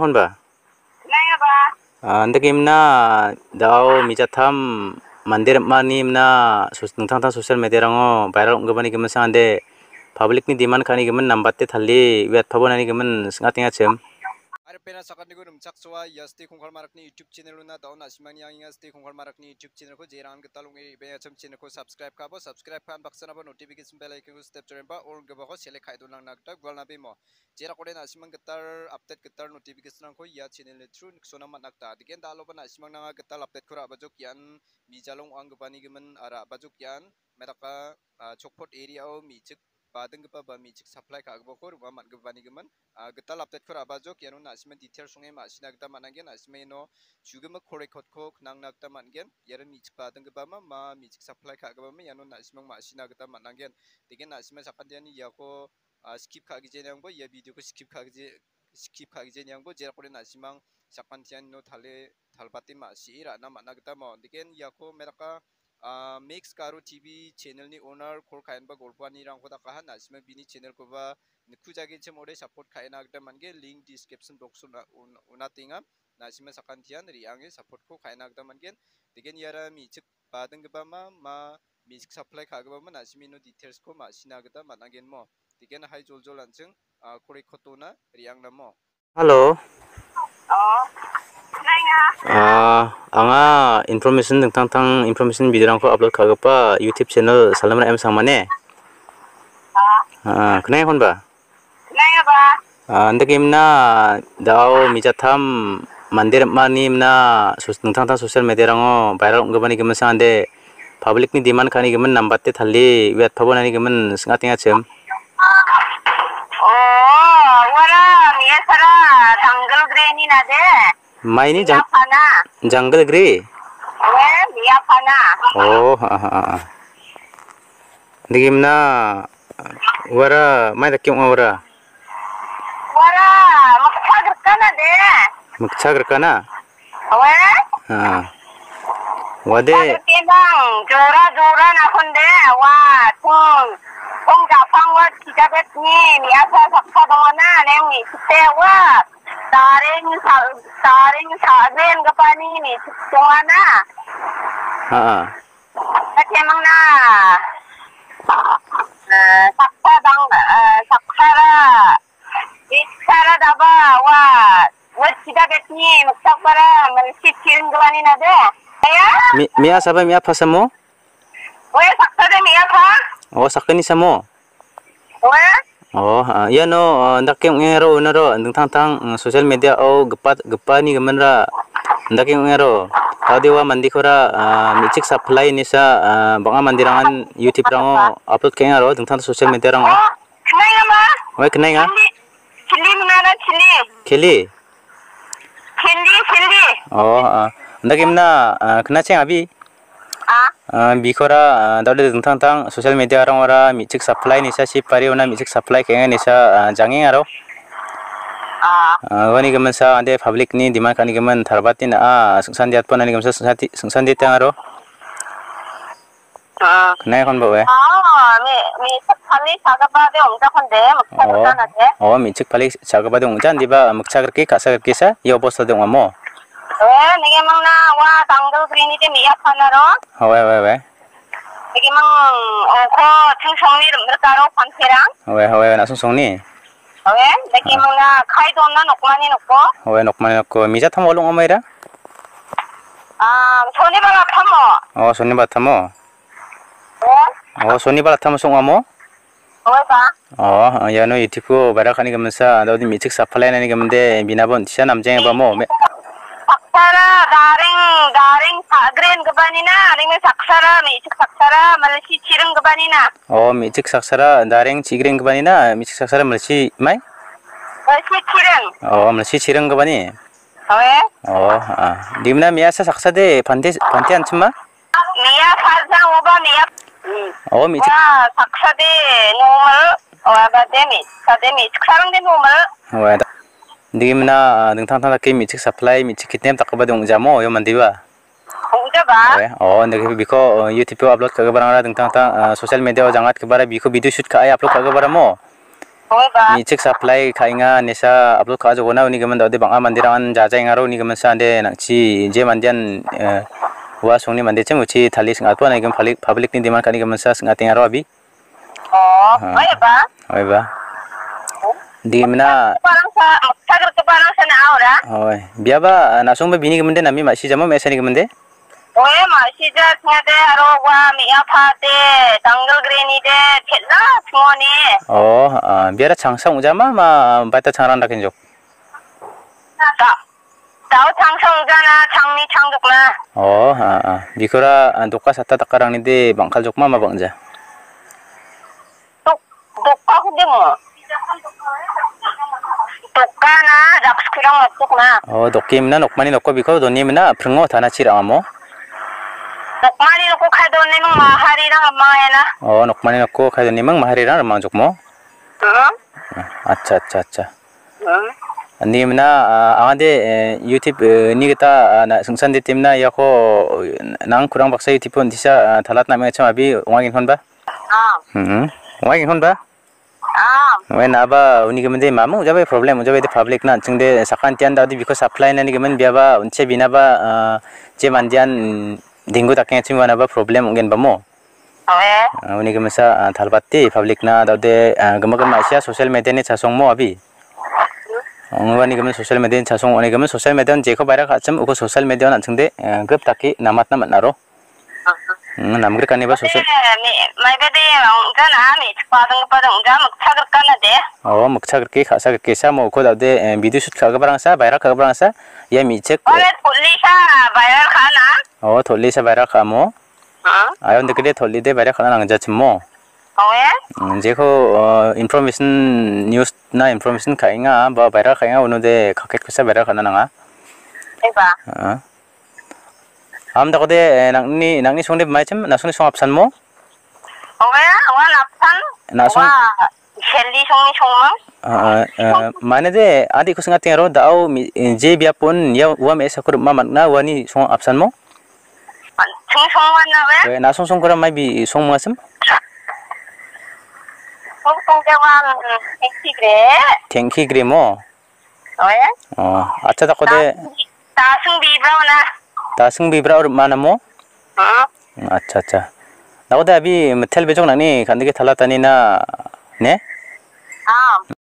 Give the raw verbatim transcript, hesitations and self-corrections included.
Honba? Nangaba. Ah, anda gimna dao mijatam mande rim·ani gimna sos-, dingtang dingtang social media-rango viral ong·gipani giminsa ande public-ni demand ka·ani gimin nambate talie uiatpabo nani gimin sing·atengachim. Aripena sakantigo rimchaksoa ia Stay Kongkal Marakni YouTube channel-ona dao na·simangni angenga Stay Kongkal Marakni YouTube channel-ko jerangan gital ong·e re·baengachim channel-ko subscribe ka·abo, subscribe ka·an baksanaba notification bell icon-ko step jorenba all ong·gipako select ka·e donangna gita gualna bemo. Jerakode na·simang gital update gital notification-rangko ia channel-ni through niksona man·a gita. Digen daloba na·simang nanga gital update-ko ra·bajok ian mijalong ong·anggipani gimin, ah, ra·bajok ian medaka, ah, Chokpot area-o me·chik badinggipa ba me·chik supply ka·gipako rim·a man·gipani gimin, ah, gital update-ko ra·bajok iano na·simang details ong·e ma·sina gita man·angen. Na·simang iano chugimik call record-ko knangna gita man·gen. Iara me·chik badinggipa ma, ma me·chik supply ka·gipa ma iano na·simang ma·sina gita man·angen. Digen na·simang sakantian iako ah, skip ka·gijeniangbo ia video-ko skip ka·gije-, skip ka·gijeniangbo jerakode na·simang sakantianino tale talbate ma·sie ra·na man·a gita mo. Digen iako meraka, ah, Mix Garo T V channel-ni owner call ka·enba golpoanirangko dakaha na·simang bini channel-koba nikujagechim ode support ka·ena gita man·gen. Link description box-o una-, un-, unatenga. Na·simang sakantian re·ange support-ko ka·ena gita man·gen. Digen iara me·chik badinggipa ma, ma me·chik supply ka·gipa ma na·simino details-ko ma·sina gita man·agenmo. Digen hai joljol an·ching, ah, call record-ona re·angnamo. Hello. Oh. Nangaba. Ah, anga information dingtang dingtang information video-rangko upload ka·gipa YouTube channel Salamra M Sangmane. Ah. Ah, knangenba? Nangaba. Ah, anda gimna dao mijatam mande rim·ani gimna sos-, dingtang dingtang social media-rango viral ong·gipani giminsa ande public-ni demand ka·ani gimin nambate talie uiatpabo nani gimin sing·atengachim. Oh, uara me·asara Jungle Grey-ni nade. Maini jang-, me·apana. Jungle Grey? Oe, me·apana. Oh, ha, ha, ha, ha. Anda gimna uara mai dake ong·a uara? Uara mikcha grikana de. Mikcha grikana? Oe? Ha. Uade. Mikcha grikebang jora jora nakonde, ua, tong, tong japang ua kijabetni me·asa saksa dongana, neng me·chikte ua. Daring sa-, daring sa-, gren gipani me·chik dongana. Ha, ha. Kemangna. Eh, saksa dang, eh, saksara. Bichara daba, wa, wa sida betni, miksakbara, malsi chiring gilani nade. Ya? Mi-, me·asaba me·apasamo? Oe, saksade me·apa. Oh, sakgni samo? Oe? Oh, ah, iano, ah, dake ong·e aro unaro dingtang dingtang, mm, social media-o gipa, gipani giminra dake ong·e aro. Taudewa mandikora, ah, me·chik supply inisa, ah, bang·a manderangan YouTube-rango upload ka·enga aro dingtang social media-rango. Oh, knainga ma? Oe, knainga? Chili, chili mingana chili. Chili? Chili, chili. Oh, ah, dake mna, ah, knacheng abi? Ah. Ah, bikora, ah, dode dingtang dingtang social media-rangora me·chik supply nisa si pari ona me·chik supply ka·enga nisa, ah, jangeng aro. Ah. Ah, uani giminsa ande public-ni demand ka·ani gimin tarbatni na·a, singsan diatpon ani giminsa singsan di-, singsan diatang aro. Ah. Knai kon ba we? Ah, me, me supply sagaba de ongja konde, moksa Oh. Gana de. Oh, me·chik palik sagaba de ongja, indiba miksa grike, ka·sa grike sa, ia obosta de ongamo. Eh, nenge mangna wa Jungle Grey-ni de me·a panaro. Hawe, hawe, hawe. Nenge mang ongko chingsongni rim·rikaro panserang. Hawe, hawe, na·song songni. Hawe, nenge Ah. Mangna kai donna nokmani nokko. Hawe, nokmani nokko. Mija tamo olong amaira? Ah, Sonibar atamo. Oh, Sonibar tamo. Eh? Oh, Sonibar atamo song amo? Oi, ba. Oh, iano YouTube-o viral ka·ani giminsa, anda udi me·chik supply nani giminde, binabo on·tisa namjeng ba mo? Me- Saksara, daring, daring, sa-, green gipanina, ringni saksara, me·chik saksara, malsi chiring gipanina. Oh, me·chik saksara, daring, chi-, green gipanina, me·chik saksara, malsi mai? Malsi chiring. Oh, malsi chiring gipani. Oe. Oh, ah. Dimna me·asa saksa de, pante, pante anchima? Me·a sajang oba me·a. Hmm. Oh, me·chik. Wa, saksa de normal. Oa ba de me, sa de me, chiksarang de normal. Oe, da-, dimna, ah, dingtang dingtang dake me·chik supply, me·chik kidnap dakgipa de ong·jamo, io mandiba? Ong·jaba. Oe, oh, dake biko, oh, YouTube-o upload ka·giparangara dingtang dingtang, ah, social media-o jangatgipara biko video shoot ka·e upload ka·giparamo? Oi ba. Me·chik supply ka·enga, nesa upload ka·a jokona, uni gimin da·ode bang·a manderangan jajaengaro, uni gimin sa ande nang·chi je mandean, eh, ua songni mandechim uchi tali sing·atba, uni gimin public, public ni demand ka·ani gimin sa sing·atengaro abi. Oh, ah. Oi ba. Oi ba. Di mina. Parang sa, sa gerke parang sa na aura. Oi. Biaba, ah, na·songba bini gimin de nami ma·si jamo me·asani gimin de? Oe, ma·sija singade aro ua me·a pade, danggil greni de, pet·la simoni. Oh, ah, biara changsa ong·jama ma baita changrang dakenjok? Da-, dao changsa ong·jana, changni changjokna. Oh, ah, ah. Bikora, ah, doka sata dakarangni de bang·kaljokma ma bang·ja? Dok-, dokako demo. Dokana, dakskurang matokna. Oh, dokke mina nokmani nokko biko doni mina pringo tana chi ra·amo. Nokmani nokko kai doni ming mahari rang amang ena. Oh, nokmani nokko kai doni ming mahari rang amang jokmo. Hmm. Acha, acha, acha. Hmm. Ni mina, ah, angade, eh, YouTube, eh, ni kita, ah, na singsan de timna yako, eh, nang kurang baksa YouTube pun disa, ah, talat na me chama bi wangi hon ba. Ah. Hmm. Wangi hon ba. Ah. Wen aba uni gimin de mamung jabe problem jabe de public na ching de sakan tian da di biko supply na ni gimin biaba unche bina ba, ah, je mandian, mm, dinggu takeng chim wana ba problem ungen ba mo. Oe. Ah, uni gimin sa, ah, thalbati public na da de, ah, gema gema sia social media ni chasong mo abi. Ong wani gimin social media ni chasong uni gimin social media jeko baira kachim uko social media na ching de, ah, group taki namat na matnaro. Hmm, namgrikaniba sose. Eh, mi-, maiba de, ong·jana, mi-, padang, padang, ong·ja, mikcha grikana de. Oh, mikcha grike, ka·sa grike, sa, mo, uko da·ode, eh, video shoot ka·giparangsa, baira ka·giparangsa, ia mi·chik, oh, eh, tolisa, baira ka·na. Oh, tolisa, baira ka·amo. Hmm? Ayon dekede, tolide, baira ka·na nangjachimo. Oh, eh? Hmm, jeko, eh, information, news na information ka·enga, ba, baira ka·enga, unode, kaket kosa, baira ka·na nanga. Eba. Ah. Am dakode, eh, nangni, nangni songde maichim, na·songni song apsan mo? Oe, ua napsan. Na·song. Ua, Shelly songni songmang. Ah, ah, eh, mane de, adi ko singa tengaro, da·o mi, eh, je biapon, ia ua me·sako ripma man·na, uani song apsan mo? Song songwan na we? Eh, na·song songkora mai bi song mangasim? Song song de ua, mm, tengki gre. Tengki gre mo? Oe? Oh, acha dakode. Tasung, tasung bibra na. Tasung bibra ur mana mo? Hmm. Acha, acha. Dakode abi metel bejok nangni kandike thalatani na, ne? Ah.